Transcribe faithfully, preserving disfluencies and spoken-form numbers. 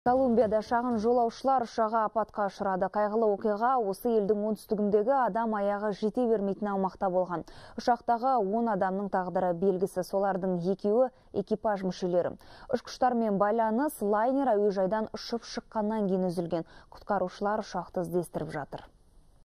Колумбияда шағын жолаушылар ұшағы апатқа ұшырады. Қайғылы оқиға осы елдің оңтүстігіндегі адам аяғы жете бермейтін аумақта болған. Ұшақтағы он адамның тағдыры белгісі, солардың екеуі экипаж мүшелері. Ұшқыштармен байланыс лайнер әуежайдан ұшып шыққаннан кейін үзілген. Құтқарушылар ұшақты іздестіріп жатыр.